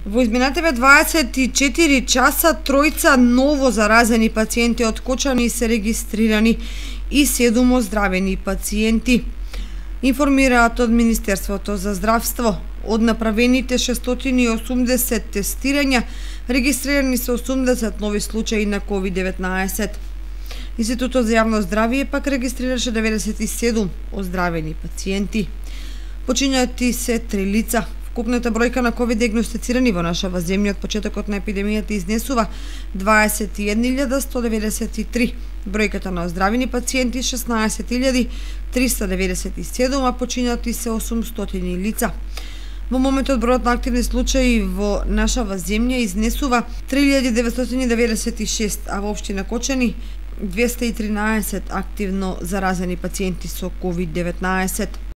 Во изминативе 24 часа тројца ново заразени пациенти од Кочани се регистрирани и 7 оздравени пациенти. Информираат од Министерството за здравство. Од направените 680 тестирања, регистрирани се 80 нови случаи на COVID-19. Институтот за јавно здравје пак регистрираше 97 оздравени пациенти. Починати се 3 лица. Вкупната бројка на ковид диагностицирани во нашава земја од почетокот на епидемијата изнесува 21.193. Бројката на оздравени пациенти 16.397, а починати се 800 лица. Во моментот бројот на активни случаи во нашава земја изнесува 3.996, а во општина Кочани 213 активно заразени пациенти со COVID-19.